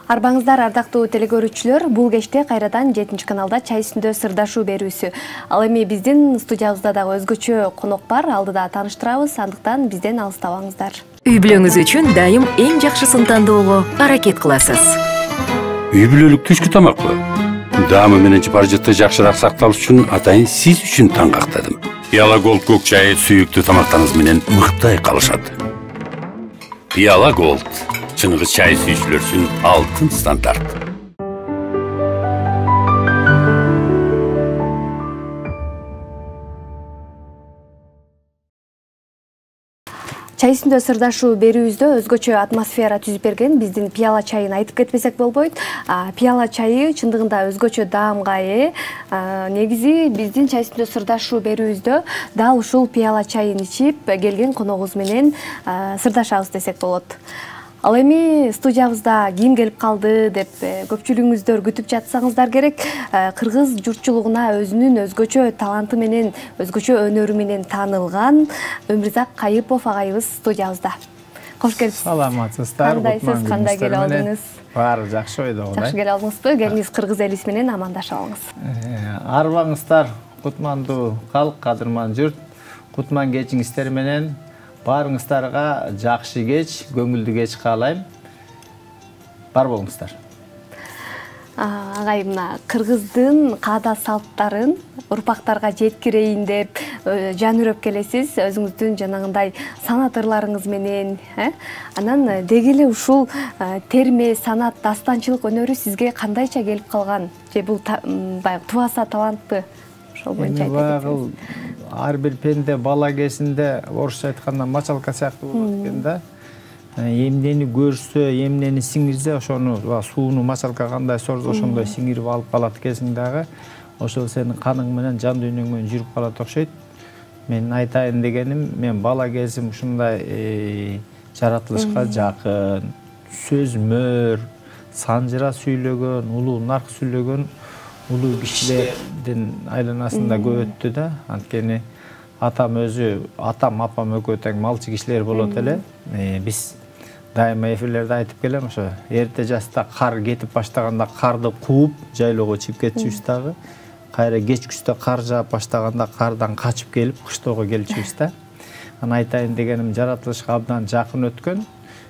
Арбаңыздар ардактуу телекөрүүчүлөр, бул кечте кайрадан 7 каналда чай үстүндө сырдашуу берүүсү. Ал эми биздин студиябызда дагы өзгөчө конок бар, алдыда тааныштырабыз, андыктан бизден алыстабаңыздар. Үй бүлөңүз үчүн дайым эң жакшысын тандоого аракет кыласыз. Үй бүлөлүк түшкү тамакпы? Даамы менен паржытты жакшыраак сакталыш үчүн атайын сиз үчүн таңгактадым. Пиала Голд көк чайы сүйүктүү тамактарыңыз менен мыктай калышат. Пиала Голд чыныгы чай сүйүүчүлөр үчүн алтын стандарт. Чай үстүндө сырдашуу берүүбүздө өзгөчө атмосфера түзүп берген биздин пиала чайын айтып кетпесек болбойт. Пиала чайы чындыгында өзгөчө даамга ээ. Негизи биздин чай үстүндө сырдашуу берүүбүздө дал ушул пиала чайын ичип келген коногубуз менен сырдашабыз десек болот. Ал эми студиябызда ким келип калды деп көпчүлүгүңүздөр күтүп жатсаңыздар керек. Кыргыз журтчулугуна өзүнүн өзгөчө таланты менен, өзгөчө өнөрү менен таанылган Өмүрзак Кайыпов агайыбыз студиябызда. Кош келипсиз. Саламатсыздар. Кандайсыз? Кандай келип алдыңыз? Баары жакшы ойдо. Жакшы келип алдыңызбы? Келиңиз кыргыз элибиз менен амандашып алыңыз. Арбаңыздар кутмандуу калк, кадырман журт. Кутман кечиңиздер менен баарыңыздарга жакшы кеч, көңүлдүү кеч каалайм. Бар болуңуздар. Агай, мына кыргыздын каада салттарын урпактарга жеткирейин деп жан үрөп келесиз, өзүңүздүн жанагындай санат ырларыңыз менен, Анан деги эле ушул терме, санат, дастанчылык өнөрү сизге кандайча келип калган? Же бул баягы тубаса талантпы? Ошол боюнча айтып ар бир пенде бала кезинде орусча айтканда мачалка сыяктуу болот экен да. Эмнени көрсө, эмнени сиңирсе, ошону сууну мачалка кандай сорсо, ошондой сиңирип алып калат экенсиң дагы. Ошол сенин каның менен, жан дүйнөң менен жүрүп калат окшойт. Мен айтайын дегеним, мен бала кезим ушундай жаратылышка жакын, сөзмөр, санжыра сүйлөгөн, улуу нарк сүйлөгөн улуу кишилердин айланасында көп өттү да. Анткени атам апам экөө тең малчы кишилер болот эле. Биз дайыма эфирлерде айтып келем, ошо эрте жашта кар кетип баштаганда карды кууп, жайлоого чыгып кетчүбүз дагы. Кайра кечкүстө кар жаап баштаганда кардан качып келип, кыштоого келчүбүз да. Анан айтайын дегеним, жаратылышка абдан жакын өткөн.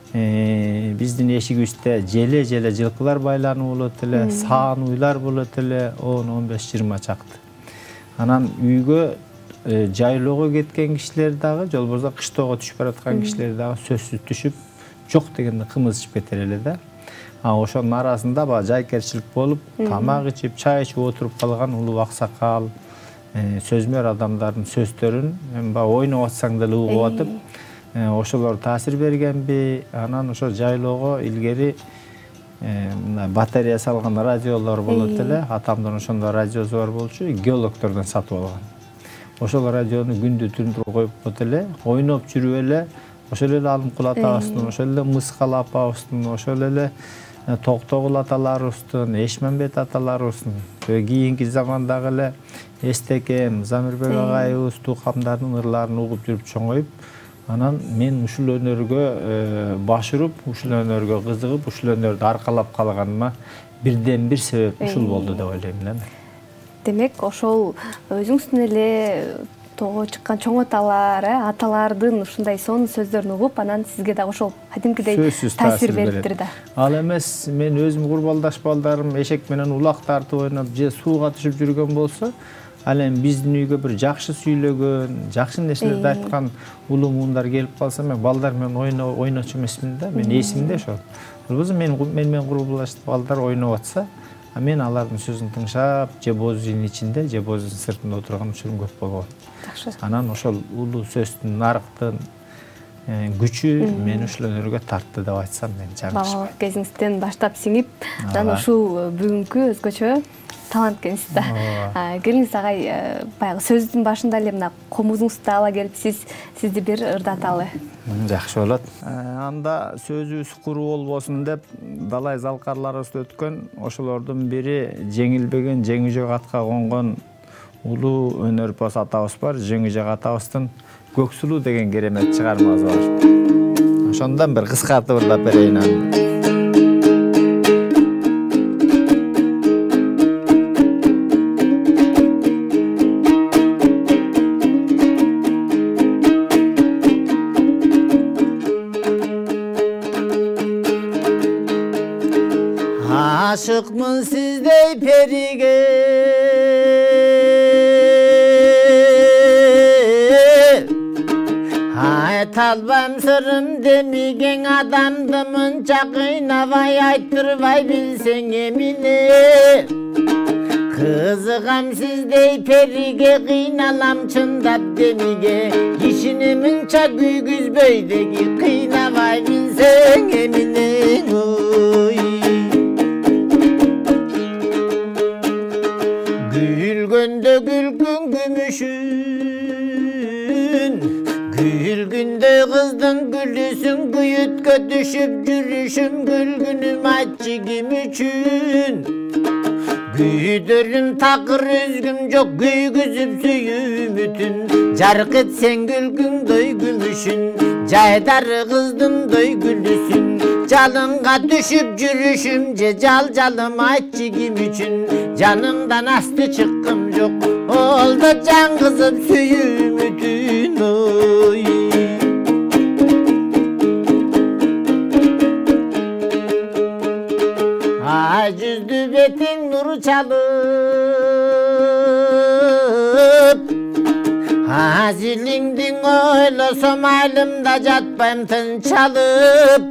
Биздин эшигибизде желе жылкылар байланып болот эле, саан уйлар болот эле, 10-15-20 чакты. Анан үйгө жайлоого кеткен кишилер дагы, жол болбосо кыштоого түшүп бараткан кишилер дагы сөзсүз түшүп, жок дегенде кымыз ичип кетер эле да. Ошонун арасында жайкерчилик болуп, тамак ичип, чай ичип отуруп калган улуу аксакал, сөзмөр адамдардын сөздөрүн мен ойноп атсаң деле угуп атып, ошолор таасир бергенби? Анан ошо жайлоого илгери батарея салган радиолор болот эле. Атамдын ошондой радиосу бар болчу, геологтордон сатып алган. Ошол радиону күндү түндү коюп коет эле, ойноп жүрүп эле, ошол эле Алымкул атабыздын, ошол эле Мыскал апабыздын, ошол эле Токтогул аталарыбыздын, Эшмембет аталарыбыздын, кийинки замандагы эле Эстекем, Замирбек агайыбыз, тукамдардын ырларын угуп жүрүп чоңоюп, анан мен ушул өнөргө баш уруп, ушул өнөргө кызыгып, ушул өнөрдү аркалап калганыма бирден бир себеп ушул болду деп ойлойм да. Демек, ошол өзүңүздүн эле тоого чыккан чоң аталардын ушундай сонун сөздөрүн угуп, анан сизге дагы ошол кадимкидей таасир бериптир да. Ал эмес, мен өзүм курбалдаш балдарым эшек менен улак тартып ойноп, же сууга түшүп жүргөн болсо, ал эми биздин үйгө бир жакшы сүйлөгөн, жакшы нерселерди айткан улуу муундар келип калса, мен балдар менен ойночу эмесмин да. Мен эсимде ошол. Болбосо мен менен курбалдаш балдар ойноп атса, мен алардын сөзүн тыңшап, же боз үйдүн ичинде, же боз үйдүн сыртында отурган учурум көп болгон. Анан ошол улуу сөздүн, нарыктын күчү мени ушул өнөргө тартты деп айтсам мен жаңылышпайм. Балалык кезиңизден баштап сиңип, анан ушул бүгүнкү өзгөчө талант экенсиз да. Келиңиз агай, баягы сөздүн башында эле мына комузуңузду ала келип сизди бир ырдаталы. Жакшы болот. Анда сөзүбүз куруу болбосун деп далай залкарларыбызда өткөн, ошолордун бири жеңилбеген жеңижек атка конгон улуу өнөрпоз атабыз бар. Жеңижек атабыздын Көксулуу деген керемет чыгармасы бар. Ошондон бир кыскартып ырлап берейин аны. ашыкмын сиздей периге. Айта албайм сырым демиген адамды мынча кыйнабай айттырбай билсең эмне. Кызыгам сиздей периге, кыйналам чындап демиге. Кишини мынча күйгүзбөйдеги кыйнабай билсең эмне. Гүлгөндө гүлгүн күмүшүн, гүлгүндөй кыздын гүлүсүн күйүткө түшүп жүрүшүм. Гүлгүнүм айтчы ким үчүн? Күйдөрүм такыр өзгүм жок, күйгүзүп сүйүмүтүн. Жарык этсең гүлгүңдөй күмүшүн, жайдары кыздымдөй гүлүсүн. Жалынга түшүп жүрүшүм же жалым айтчы ким үчүн? Жаныңдан асты чыккым жок, олдо жан кызып сүйүмүтүн. Ай жүздү бетиң нур чалып, азилиңдиң ойлосом айылымда жатпайм тынчалып.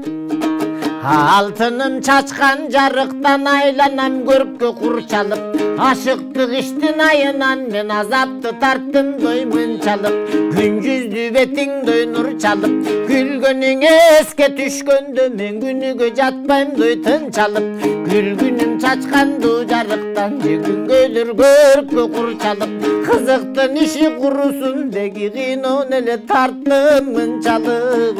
Алтыным чачкан жарыктан айланам көрккө курчалып. Ашыктык иштин айынан мен азапты тарттымдой мынчалып. Күнжүздү бетиңдөй нур чалып, күлгөнүң эске түшкөндө мен күнүгө жатпаймдой тынчалып. Күлгүнүм чачканду жарыктан же күнгөйлөр көрккө курчалып. Кызыктын иши курусун деги кыйноон эле тарттым мынчалып.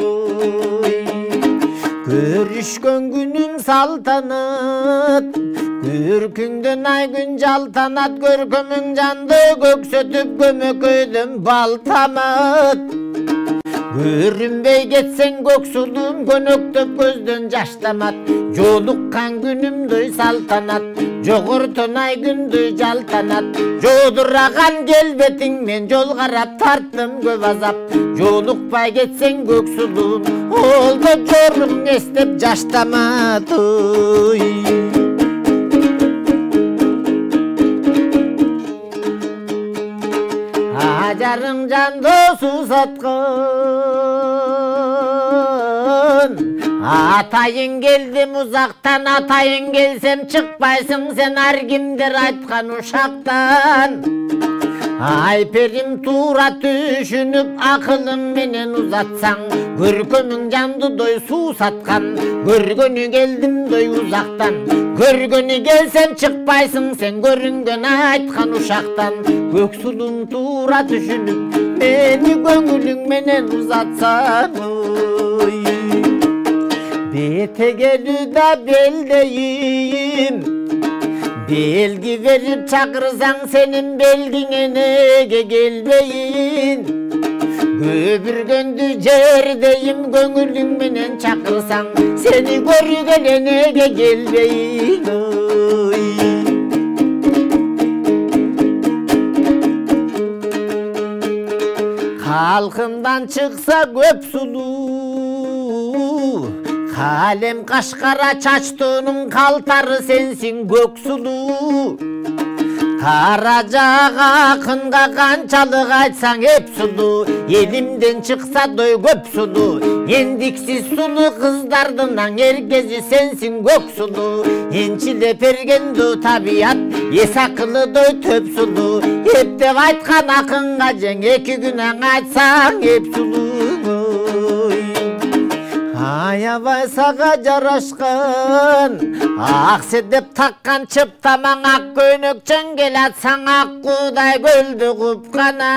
Көрүшкөн күнүң салтанат, көркүңдөн ай күн жалтанат. Көркөмүң жанды көксөтүп көмөкөйдөн балтамат. Көрүнбөй кетсең көк сулуум көнөктөп көздөн жаш тамат. Жолуккан күнүмдөй салтанат, жогортон ай күндөй жалтанат. Жодураган келбетиң мен жол карап тарттым көп азап. Жолукпай кетсең көк сулуум, олдо жоруң эстеп жаш тамат. Ажарың жанды сусаткан, атайын келдим узактан. Атайын келсем чыкпайсың сен ар кимдер айткан ушактан. Ай перим туура түшүнүп акылың менен узатсаң. Көркөмүң жандыдой суусаткан, көргөнү келдимдой узактан. Көргөнү келсем чыкпайсың сен көрүнгөн айткан ушактан. Көк сулуң туура түшүнүп мени көңүлүң менен узатсаң. Бетегелүү да белдейим, белги берип чакырсаң сенин белгиңе неге келбейин? Көбүргөндү жердейим, көңүлүң менен чакырсаң сени көргөнө неге келбейин? Халкымдан чыкса көп сулуу, калем кашкара чачтоонун калтары сенсиң көк сулуу. Кара жага акынга канчалык айтсаң эп сулуу, элимден чыкса дой көп сулуу. Эндиксиз сулуу кыздардын эргези сенсиң көк сулуу. Энчилеп бергенду табият эс акылыдой төп сулуу. Эптеп айткан акынга жең эки күн айтсаң эп сулуу. Аябай сага жарашкан, ак седеп таккан чыптамаң ак көйнөк чөңгел атсаң аккуудай көлдү купкана.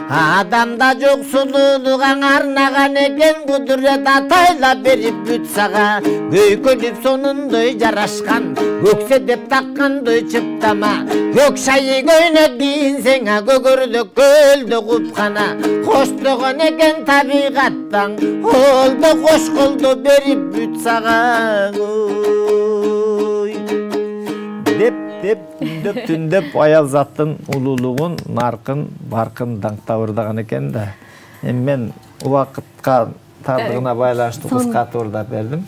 Адамда жок сулуулук арнаган экен, кудурет атайлап берип бүт сага. Көйкөлүп сонундой жарашкан, көксе деп таккандой чыптама. Көк шайы көйнөк кийинсең көгөрдөк көлдү купкана. Коштогон экен табигаттан, олдо кош колдо берип бүт сага. Деп түндөп аял заттын улуулугун, наркын, баркын даңктабырдаган экен да. Эми мен убакытка тардыгына байланыштуу кыскартып ырдап бердим.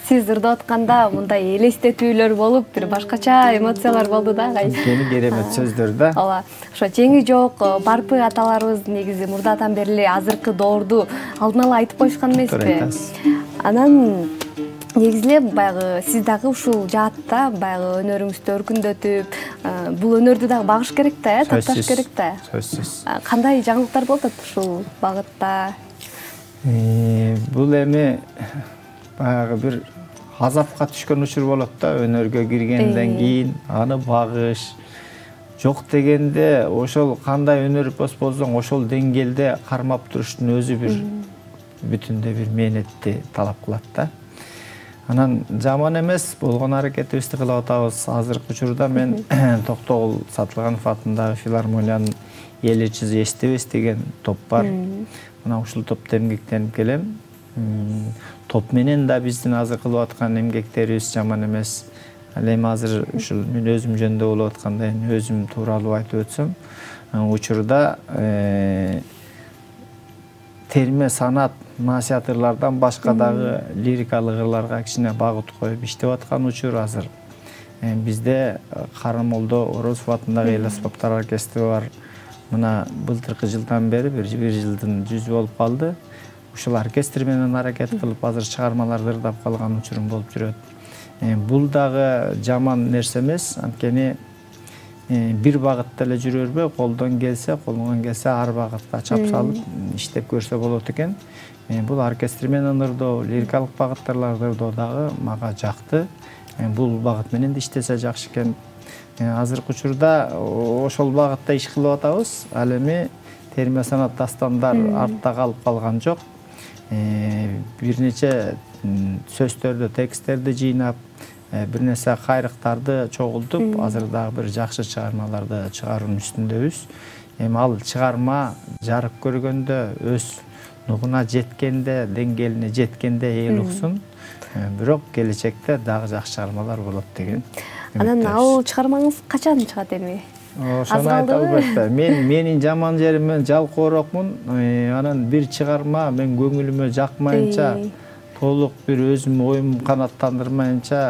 сиз ырдап атканда мындай элестетүүлөр болуп, бир башкача эмоциялар болду да, агай. Кени керемет сөздөр да. Ооба. Ошо жеңи жок барпы аталарыбыз негизи мурдатан бери азыркы доорду алдын ала айтып коюшкан эмеспи? Анан негизи эле баягы сиз дагы ушул жаатта баягы өнөрүңүздү өркүндөтүп, бул өнөрдү дагы багыш керек да, тапташ керек да. Сөзсүз. Кандай жаңылыктар болуп атат ушул багытта? Бул эми баягы бир азапка түшкөн учур болот да, өнөргө киргенден кийин аны багыш жок дегенде ошол кандай өнөр болсоң ошол деңгээлде кармап туруштун өзү бир бүтүндөй бир мээнетти талап кылат да. Анан жаман эмес болгон аракетибизди кылып атабыз. Азыркы учурда мен Токтогул Сатылганов атындагы филармониянын эл ичизи эстебес деген топ бар. Мына ушул топто эмгектенип келем. Топ менен да биздин азыр кылып аткан эмгектерибиз жаман эмес. Ал эми азыр ушул мен өзүм жөнүндө болуп атканда өзүм тууралуу айтып өтсөм, учурда терме санат насыятырлардан башка дагы лирикалык ырларга кичине багыт коюп иштеп аткан учур азыр. Бизде Карамолдо Орозов атындагы эл аспаптар оркестри бар. Мына былтыркы жылдан бери бир жылдын жүзү болуп калды. Ушул оркестр менен аракет кылып азыр чыгармаларды ырдап калган учурум болуп жүрөт. Бул дагы жаман нерсе эмес, анткени бир багытта эле жүрө бербей, колдон келсе ар багытка чап салып иштеп көрсө болот экен. Бул оркестр менен ырдоо, лирикалык багыттарларды ырдоо дагы мага жакты. Бул багыт менен да иштесе жакшы экен. Азыркы учурда ошол багытта иш кылып атабыз. Ал эми терме санат дастандар артта калып калган жок. Бир нече сөздөрдү, тексттерди жыйнап, бир нерсе кайрыктарды чогултуп, азыр дагы бир жакшы чыгармаларды чыгаруунун үстүндөбүз. Эми ал чыгарма жарык көргөндө, өз нугуна жеткенде, деңгээлине жеткенде эл уксун. Бирок келечекте дагы жакшы чыгармалар болот деген. Анан ал чыгармаңыз качан чыгат эми? Ошону айта албайт. Менин жаман жерим мен жалкоорокмун. Анан бир чыгарма мен көңүлүмө жакмайынча, толук бир өзүм оюм канааттандырмайынча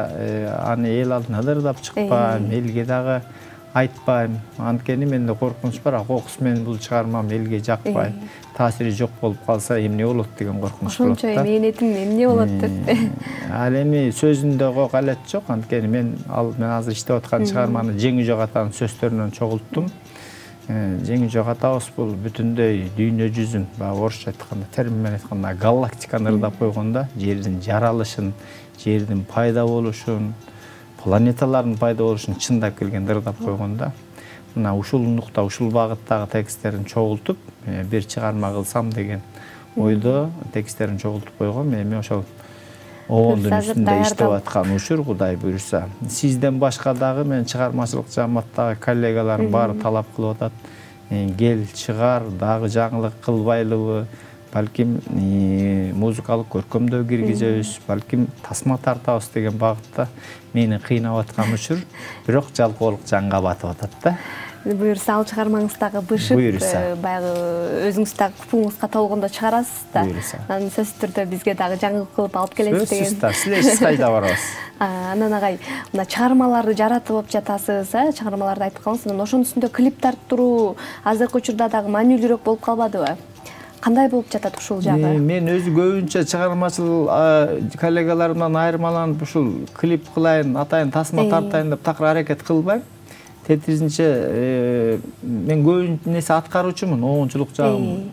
аны эл алдына да ырдап чыкпайм, элге дагы айтпайм. Анткени менде коркунуч бар, кокус менен бул чыгармам элге жакпай, таасири жок болуп калса эмне болот деген коркунуч болот да. Ошончо мээнетим эмне болот деп. Ал эми сөзүндө калет жок, анткени мен азыр иштеп аткан чыгарманы Жеңи жок атанын сөздөрүнөн чогулттум. Жеңи жок атабыз бул бүтүндөй дүйнө жүзүн, орусча айтканда, термин менен айтканда галактиканы ырдап койгондо, жердин жаралышын, жердин пайда болушун, планеталардын пайда болушун чындап келгенде ырдап койгондо, мына ушул нукта, ушул багыттагы тексттерин чогултуп, бир чыгарма кылсам деген ойдо тексттерин чогултуп койгом. Эми ошол обондун үстүндө иштеп аткан учур, Кудай буйруса. Сизден башка дагы мен чыгармачылык жааматтагы коллегаларым баары талап кылып атат. Кел, чыгар, дагы жаңылык кылбайлыбы, балким музыкалык көркөмдөө киргизебиз, балким тасма тартабыз деген багытта мени кыйнап аткан учур, бирок жалкоолук жанга батып атат да. Буюрса ал чыгармаңыз дагы бышып, баягы өзүңүз дагы купуңузга толгондо чыгарасыз да. Анан сөзсүз түрдө бизге дагы жаңылык кылып алып келесиз деген. Сөзсүз да, силерсиз кайда барабыз. Анан агай, мына чыгармаларды жаратып жатасыз, чыгармаларды айтып калыңыз. Анан ошонун үстүндө клип тартып азыркы учурда дагы маанилүүрөөк болуп калбадыбы? Кандай болуп жатат ушул жагы? Мен өзү көбүнчө чыгармачыл коллегаларымдан айырмаланып ушул клип кылайын, атайын, тасма тартайын деп такыр аракет кылбайм. Тетиризинче мен көбүнчө нерсе аткаруучумун, оңчулук жагым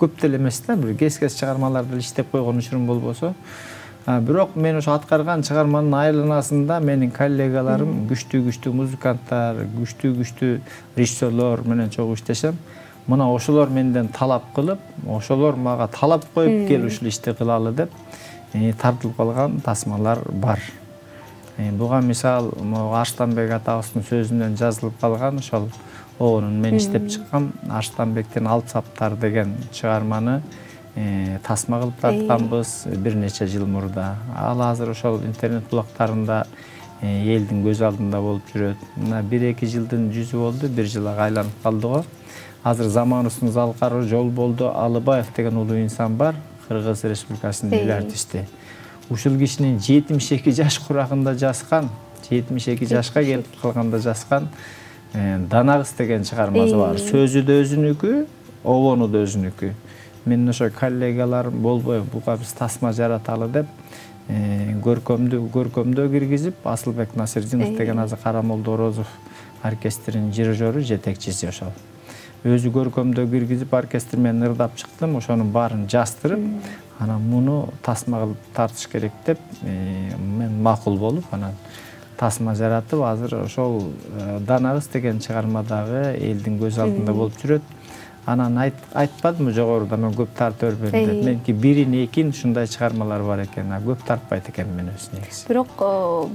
көп деле эмес да, бир кез чыгармаларды иштеп койгон учурум болбосо. Бирок мен ошо аткарган чыгарманын айланасында менин коллегаларым күчтүү музыканттар, күчтүү режиссерлор менен чогуу иштешем. Мына ошолор менден талап кылып, ошолор мага талап коюп кел ушул ишти кылалы деп тартылып калган тасмалар бар. Буга мисал Арстанбек атабыздын сөзүнөн жазылып калган ошол обонун мен иштеп чыккан Арстанбектин Алп саптар деген чыгарманы тасма кылып тартканбыз бир нече жыл мурда. Ал азыр ошол интернет булактарында элдин көз алдында болуп жүрөт. Мына 1-2 жылдын жүзү болду, бир жылга айланып калды го. Азыр заманыбыздын залкары Жол болду Алыбаев деген улуу инсан бар, Кыргыз Республикасынын эл артисти. ушул кишинин 72 жаш курагында жазган, 72 жашка келип калганда жазган Дана кыз деген чыгармасы бар. Сөзү да өзүнүкү, обону да өзүнүкү. Мен ошо коллегаларым болбой буга биз тасма жараталы деп көркөмдөө киргизип, Асылбек Насирдинов деген азыр Карамолдо Орозов оркестринин дирижеру, жетекчиси ошол. Өзү көркөмдөө киргизип, оркестр менен ырдап чыктым, ошонун баарын жаздырып, анан муну тасма кылып тартыш керек деп мен макул болуп, анан тасма жаратып, азыр ошол Дана кыз деген чыгармадагы элдин көз алдында болуп жүрөт. Анан айтпадымбы жогоруда мен көп тартып бербейм деп. Менки бирин экин ушундай чыгармалар бар экен, көп тартпайт экен мен өз негизи. Бирок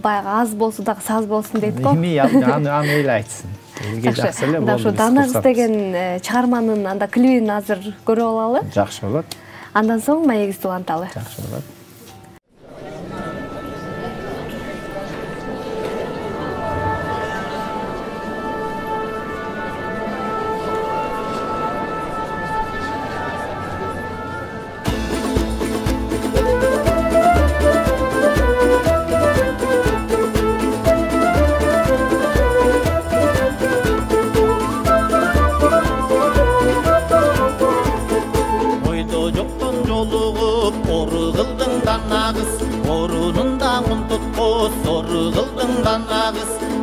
баягы аз болсо дагы саз болсун дейт го. Эми аны эле айтсын. Элге жакшы эле болду. Ошо Дана кыз деген чыгарманын анда клибин азыр көрүп алалы. Жакшы болот. Андан соң маегибизди уланталы. Жакшы болот.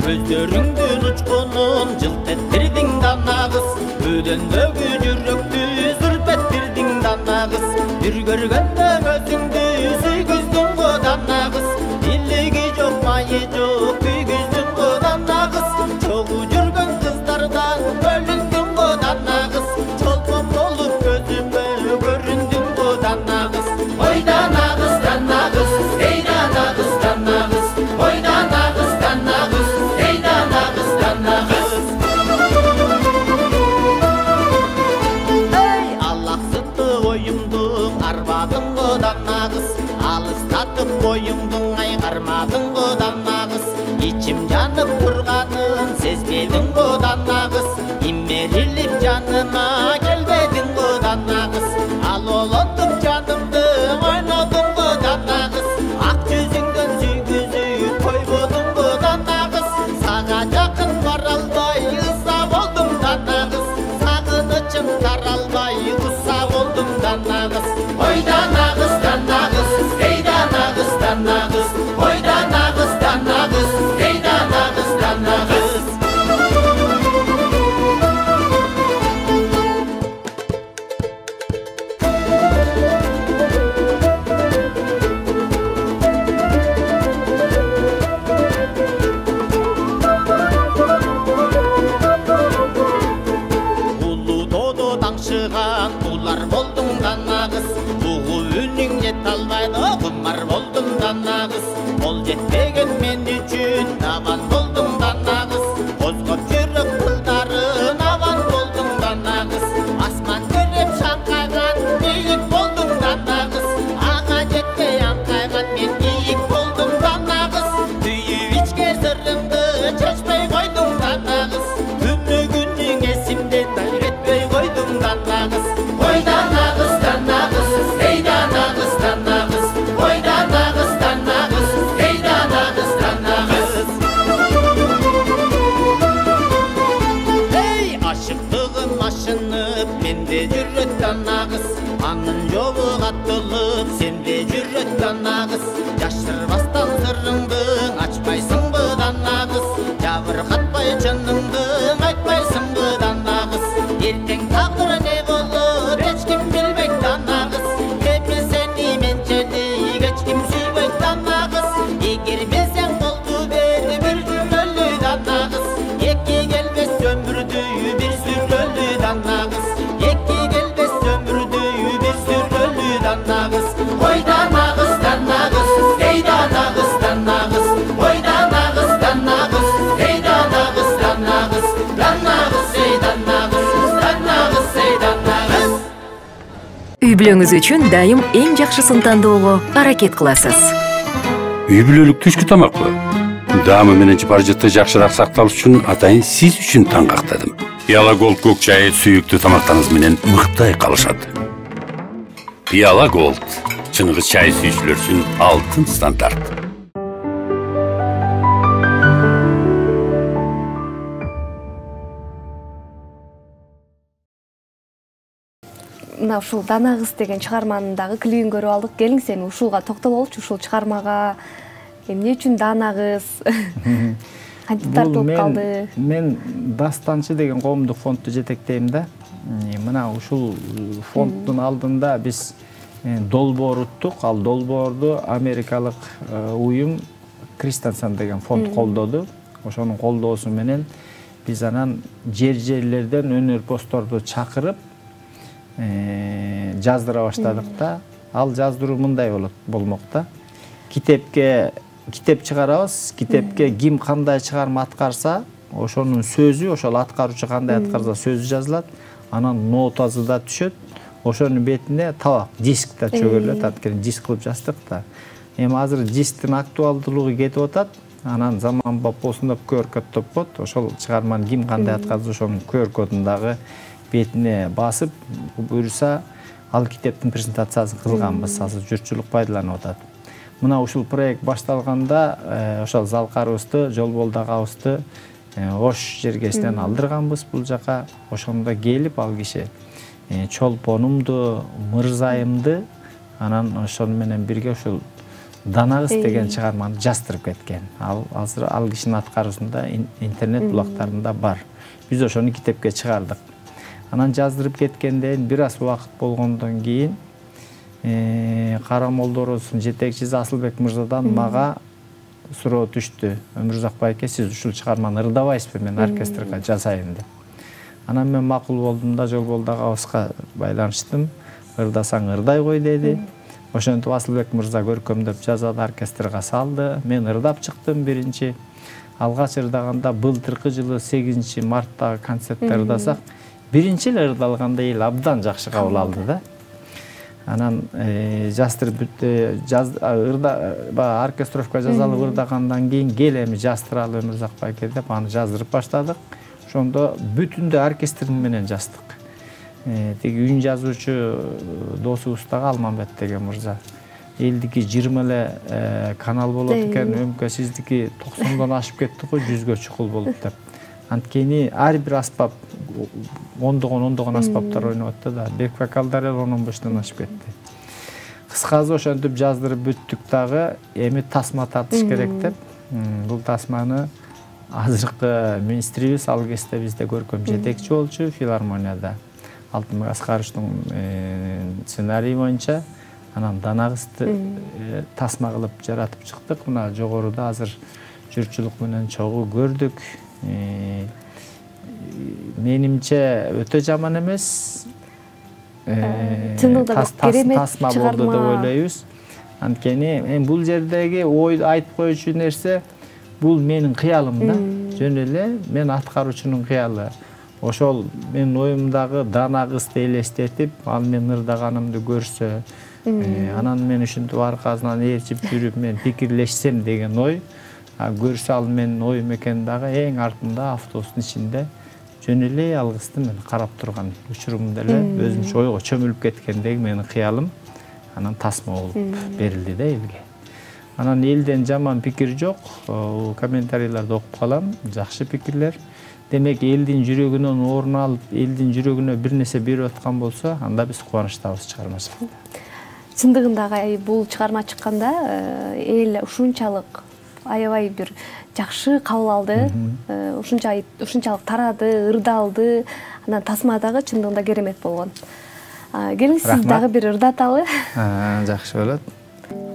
Көздөрүңдүн учкунун жылт эттирдиң Дана кыз, өдөндөгү жүрөктү сүрпеттирдиң Дана кыз. Бир көргөндө өзүңдү сүйгүздүң го Дана кыз, илиги жок, майы жок, күйгүздүң го Дана кыз. Чогуу жүргөн кыздардан бөлүндүң го Дана кыз, чолпон болуп көзүмө көрүндүң го Дана кыз. Ой Дана кыз, Дана кыз, эй Дана кыз, Дана кыз, ой Дана кыз, Дана кыз. Boyumdun aygarmadın go Dana kız, içim janıp turganın sezmedin go Dana kız, immerilip janıma gelmedin go Dana kız, al olotup janımdı oynodun go Dana kız, ak yüzüngdөн süygüzüp koybodun go Dana kız, saga jakın baralbay ıssa boldum Dana kız, sagınычым taralbay ıssa boldum Dana kız. Oy Dana kız, Dana kız, ey Dana kız, Dana kız, oy Dana kız, Dana kız, ey Dana kız, Dana kız. Ulu dodo tаңшыган улар болдуң Дана кыз, бугу үнүң жете албайды, кумар болдум Дана кыз. Ол жетпеген мен үчүн аван болдуң Дана кыз, козгоп жүрөк кылдарын аван болдуң Дана кыз. Асман көрүп шаңкайган бийик болдуң Дана кыз, ага жетпей аңкайган мен ийик болдум Дана кыз. Түйүп ичке сырыңды чечпей койдуң Дана кыз, күнү күнүң эсимден үйрөтпөй койдуң Дана кыз. Ой Дана кыз, Дана кыз, эй Дана кыз, Дана кыз, ой Дана кыз, Дана кыз, эй Дана кыз, Дана кыз. Эй, ашыктыгым ашынып, менде жүрөт Дана кыз, анын жолу каттылып, сенде жүрөт Дана кыз. Жашырбастан сырыңды ачпайсыңбы Дана кыз, жабыркатпай жыныңды айтпайсыңбы Дана кыз. Эртең тагдыр не болор эч ким билбейт Дана кыз, эми сени менчедей эч ким сүйбөйт Дана кыз. Эгер билсең болду бер бир жүрөлү Дана кыз, эки келбес өмүрдү бир сүрөлү Дана кыз, эки келбес өмүрдү бир сүрөлү Дана кыз. Ой Дана кыз, Дана кыз, эй Дана кыз, Дана кыз, ой Дана кыз, Дана кыз, эй Дана кыз, Дана кыз, Дана кыз, эй Дана кыз, Дана кыз, эй Дана кыз. Үй бүлөңүз үчүн дайым эң жакшысын тандоого аракет кыласыз. Үй бүлөлүк түшкү тамакпы? Даамы менен жыпар-жытты жакшыраак сакталыш үчүн атайын сиз үчүн таңгактадым. Пиала Голд көк чайы сүйүктүү тамактарыңыз менен мыктай калышат. Пиала Голд чыныгы чай сүйүүчүлөр үчүн алтын стандарт. Мына ушул Дана кыз деген чыгарманын дагы клибин көрүп алдык. Келиңиз эми ушулга токтололучу, ушул чыгармага эмне үчүн Дана кыз кантип тартылып калды? Мен Дастанчы деген коомдук фондду жетектейм да. Мына ушул фонддун алдында биз долбоор уттук. Ал долбоорду америкалык уюм Кристенсен деген фонд колдоду. Ошонун колдоосу менен биз анан жерлерден өнөрпоздорду чакырып жаздыра баштадык да. Ал жаздыруу мындай болмок да. Китеп чыгарабыз. Китепке ким кандай чыгарма аткарса, ошонун сөзү, ошол аткаруучу кандай аткарса сөзү жазылат. Анан нотасы да түшөт. Ошонун бетине табак, диск да чөгөрүлөт. Анткени диск кылып жаздык да. Эми азыр дисктин актуалдуулугу кетип атат. Анан заманбап болсун деп QR-код топкот. Ошол чыгарманы ким кандай аткарса, ошонун QR-кодун дагы бетине басып, буюрса ал китептин презентациясын кылганбыз. Азыр журтчулук пайдаланып атат. Мына ушул проект башталганда ошол Залкарыбызды, Жолболдагабызды Ош жергесинен алдырганбыз бул жака. Ошондо келип ал киши Чолпонумду, Мырзайымды, анан ошол менен бирге ушул Дана кыз деген чыгарманы жаздырып кеткен. Азыр ал кишинин аткаруусунда интернет булактарында бар. Биз ошону китепке чыгардык. Анан жаздырып кеткенден бир аз убакыт болгондон кийин Кара Молдорозун жетекчиси Асылбек мырзадан мага суроо түштү. Өмүрзак байке, сиз ушул чыгарманы ырдабайсызбы, мен оркестрге жазайын деп. Анан мен макул болдум да Жолболдагабызга байланыштым. Ырдасаң ырдай кой деди. Ошентип Асылбек мырза көркөмдөп жазады, оркестрге салды. Мен ырдап чыктым биринчи. Алгач ырдаганда былтыркы жылы 8 марттагы концертте ырдасак, биринчи эле ырдалганда эл абдан жакшы кабыл алды да. Анан жаздырып оркестровка жазалып ырдагандан кийин кел эми жаздыралы Өмүрзак байке деп аны жаздырып баштадык. Ошондо бүтүндө оркестр менен жаздык. Тиги үн жазуучу досубуз дагы Алмамбет деген мырза. Элдики 20 эле канал болот экен, өмкө сиздики 90дон ашып кетти го, 100гө чукул болуп деп. Анткени ар бир аспап ондогон аспаптар ойноп атты да. Бек вокалдар 10-15дон ашып кетти. Кыскасы ошентип жаздырып бүттүк дагы, эми тасма тартыш керек деп. Бул тасманы азыркы министрибиз ал кезде бизде көркөм жетекчи болчу филармонияда. Алтынбек Аскаровичтин сценарийи боюнча анан Дана кызды тасма кылып жаратып чыктык. Мына жогоруда азыр журтчулук менен чогуу көрдүк. Менимче өтө жаман эмес. Тасма болду деп ойлойбуз. Анткени эми бул жердеги ойду айтып коючу нерсе бул менин кыялым да. Жөн эле мен аткаруучунун кыялы. Ошол менин оюмдагы Дана кызды элестетип, ал мен ырдаганымды көрсө, анан мен ушинтип аркасынан ээрчип жүрүп мен пикирлешсем деген ой. Көрсө ал менин оюм экен дагы эң артында автобустун ичинде жөн эле ал кызды мен карап турган учурумда эле өзүмчө ойго чөмүлүп кеткендеги менин кыялым анан тасма болуп берилди да элге. Анан элден жаман пикир жок, комментарийлерди окуп калам, жакшы пикирлер. Демек элдин жүрөгүнөн орун алып, элдин жүрөгүнө бир нерсе берип аткан болсо, анда биз кубанычтабыз чыгармачылыкта. Чындыгында бул чыгарма чыкканда эл ушунчалык аябай бир жакшы кабыл алды, ушунчалык тарады, ырдалды. Анан тасмадагы чындыгында керемет болгон. Келиңиз сиз дагы бир ырдаталы. Жакшы болот.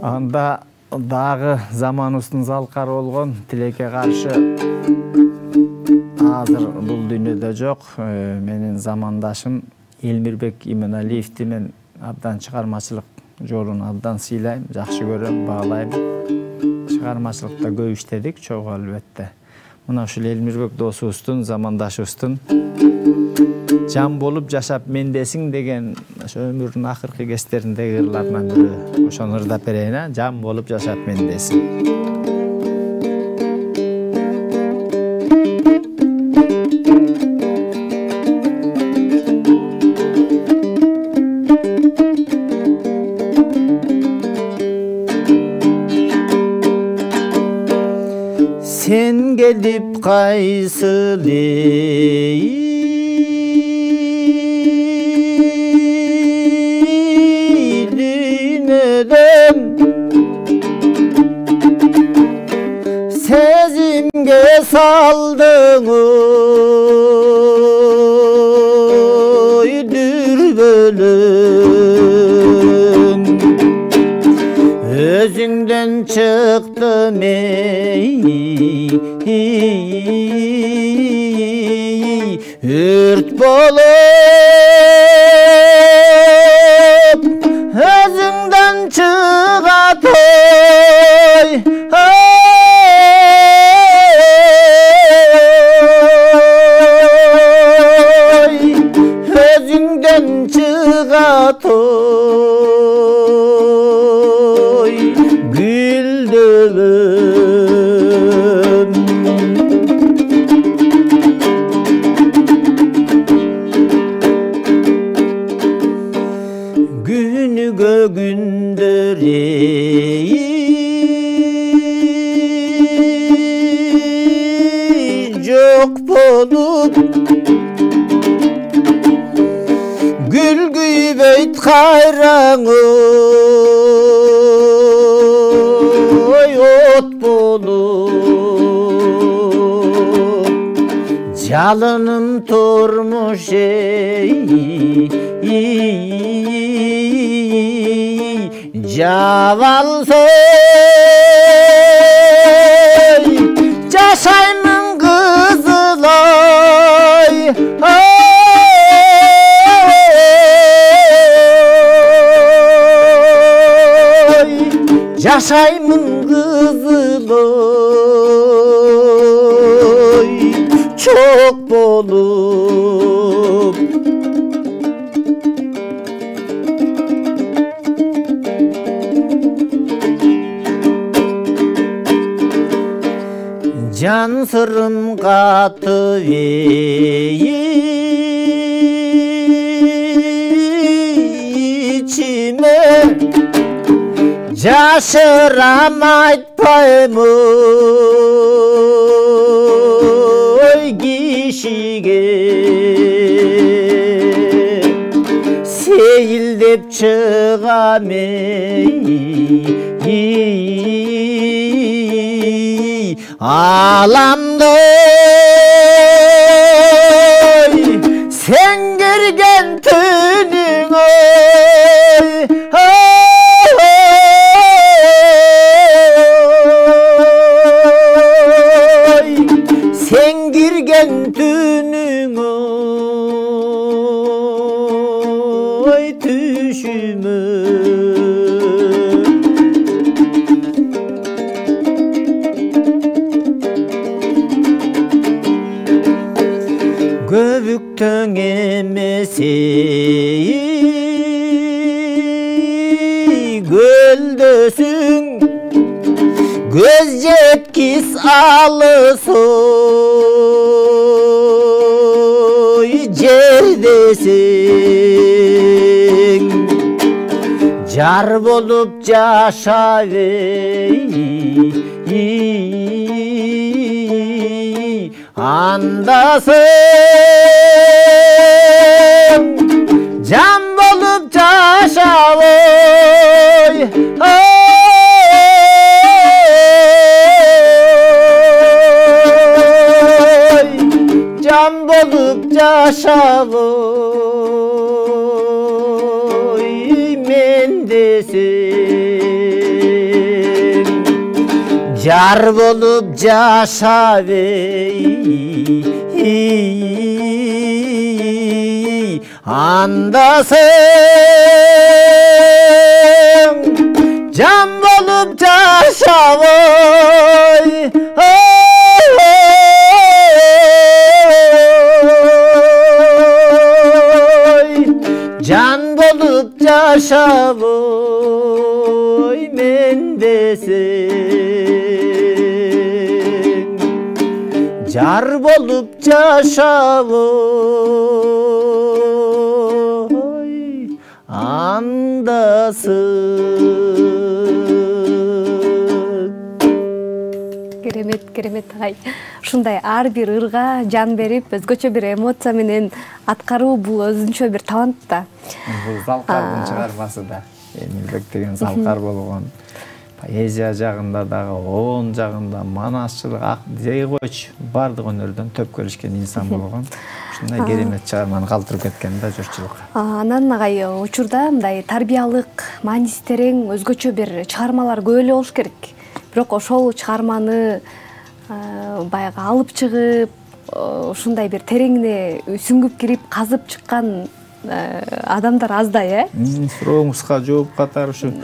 Анда дагы заманыбыздын залкары болгон Тилекке каршы азыр бул дүйнөдө жок. Менин замандашым Элмирбек Иманалиевди мен абдан чыгармачылык жолун абдан сыйлайм, жакшы көрөм, баалайм. Чыгармачылыкта көп иштедик, чогуу албетте. Мына ушул Элмирбек досубуздун, замандашыбыздын жан болуп жашап мендесиң деген өмүрүнүн акыркы кездериндеги ырларынан бирөө. Ошону ырдап берейин, жан болуп жашап мендесиң. кайсыл дүйнөдөн сезимге салдың ой дүрбөлөң өзүңдөн чыктым өрт болуп өзүңдөн чыгат өзүңдөн чыгат гүлдөбөм күнүгө күндөр жок болуп гүл күйбөйт кайраң ой от болуп жалыным турмуш жабалсой жашаймын кызылой жашаймын кызылой чок болуп жан сырым катып ичиме жашырам айтпайм ой кишиге сейилдеп чыгам аламды сен кирген түнүң сен кирген түнүң түшүмө көбүктөң эмес көлдөсүң көз жеткис алыс жердесиң жар болуп жашап андасың жан болуп жашап жан болуп жашап мендесиң жар болуп жашап андасың жан болуп жашап жан болуп жашап мендесиң жар болуп жашап андасың. Керемет агай. ушундай ар бир ырга жан берип, өзгөчө бир эмоция менен аткаруу бул өзүнчө бир талант да. Бул Залкардын чыгармасы да. Эмилбек деген Залкар болгон. Поэзия жагында дагы, оон жагында, манасчылык, дей койчу, бардык өнөрдөн төп келишкен инсан болгон. Ушундай керемет чыгарманы калтырып кеткен да журтчулукка. Анан агай учурда мындай тарбиялык, мааниси терең өзгөчө бир чыгармалар көп эле болуш керек. Бирок ошол чыгарманы баягы алып чыгып, ушундай бир тереңине сүңгүп кирип, казып чыккан адамдар аздай, Менин сурооңузга жооп катары ушу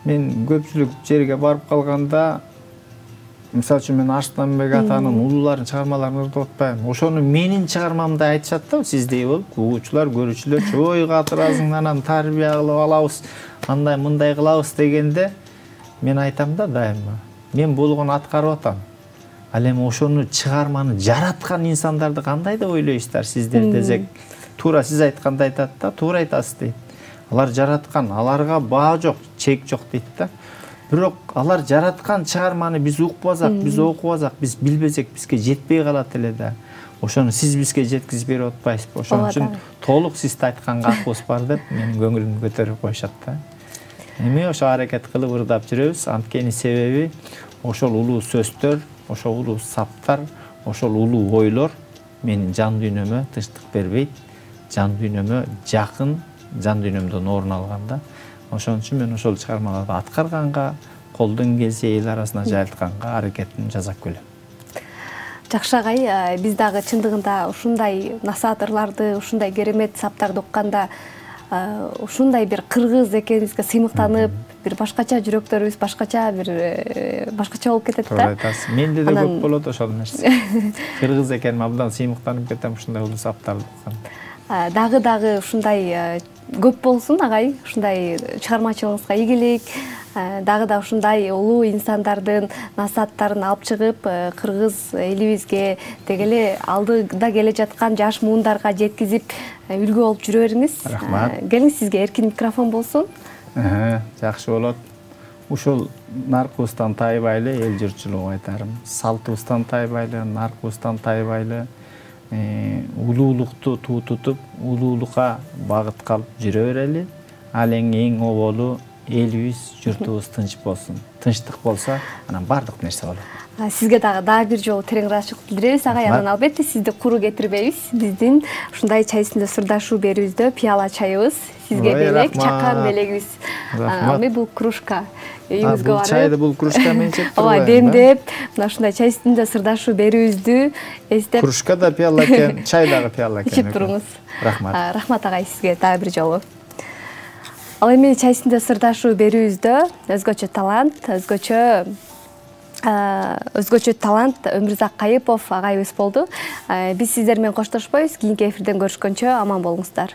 мен көпчүлүк жерге барып калганда, мисалы үчүн мен Арыстанбек атанын улууларын чыгармаларын ырдап атпайм. Ошону менин чыгармамда айтышат да, сиздей болуп, угуучулар, көрүүчүлөр, ой катырасың, анан тарбия кылып алабыз, андай мындай кылабыз дегенде, мен айтам да дайыма, мен болгон аткарып атам. Ал эми ошону чыгарманы жараткан инсандарды кандай деп ойлойсуздар сиздер десек, туура сиз айткандай айтат да, туура айтасыз дейт. Алар жараткан, аларга баа жок, чек жок дейт да. Бирок алар жараткан чыгарманы биз укпасак, биз окубасак, биз билбесек, бизге жетпей калат эле да. Ошону сиз бизге жеткизип берип атпайсызбы? Ошон үчүн толук сизде айтканга акыбыз бар деп менин көңүлүмдү көтөрүп коюшат да. Эми ошо аракет кылып ырдап жүрөбүз. Анткени себеби ошол улуу сөздөр, ошол улуу саптар, ошол улуу ойлор менин жан дүйнөмө тынчтык бербейт. Жан дүйнөмө жакын, жан дүйнөмдөн орун алганда, ошон үчүн мен ошол чыгармаларды аткарганга, колдон келсе эл арасына жайылтканга аракетин жасап келем. Жакшы агай, биз дагы чындыгында ушундай насаатырларды, ушундай керемет саптарды укканда, ушундай бир кыргыз экенибизге сыймыктанып, бир башкача жүрөктөрүбүз башкача болуп кетет да. Туура айтасыз. Менде да көп болот ошол нерсе. Кыргыз экеним абдан сыймыктанып кетем ушундай улуу саптарды укканда. Дагы ушундай көп болсун агай, ушундай чыгармачылыгыңызга ийгилик, дагы ушундай улуу инсандардын насааттарын алып чыгып, кыргыз элибизге, деги эле алдыда келе жаткан жаш муундарга жеткизип, үлгү болуп жүрө бериңиз. Рахмат. Келиңиз, сизге эркин микрофон болсун. Жакшы болот. Ушул наркыбыздан тайбайлы эл журтчулугу айтарым. Салтыбыздан тайбайлы, наркыбыздан тайбайлы, улуулукту туу тутуп, улуулукка багыт калып жүрө берели. Ал эң оболу элибиз, журтубуз тынч болсун. Тынчтык болсо, анан бардык нерсе болот. Сизге дагы бир жолу терең ыраазычылык билдиребиз агай. Анан албетте сизди куру кетирбейбиз. Биздин ушундай чай үстүндө сырдашуу берүүбүздө пияла чайыбыз сизге белек, чакан белегибиз. Эми бул кружка үйүңүзгө барып, чайды бул кружка менен чечип турбайбы? Демдеп, мына ушундай чай үстүндө сырдашуу берүүбүздү эстеп. Кружка да пияла экен, чай дагы пияла экен. Ичип туруңуз. Рахмат. Рахмат агай сизге дагы бир жолу. Ал эми чай үстүндө сырдашуу берүүбүздө өзгөчө талант Өмүрзак Кайыпов агайыбыз болду. Биз сиздер менен коштошпойбуз. Кийинки эфирден көрүшкөнчө аман болуңуздар.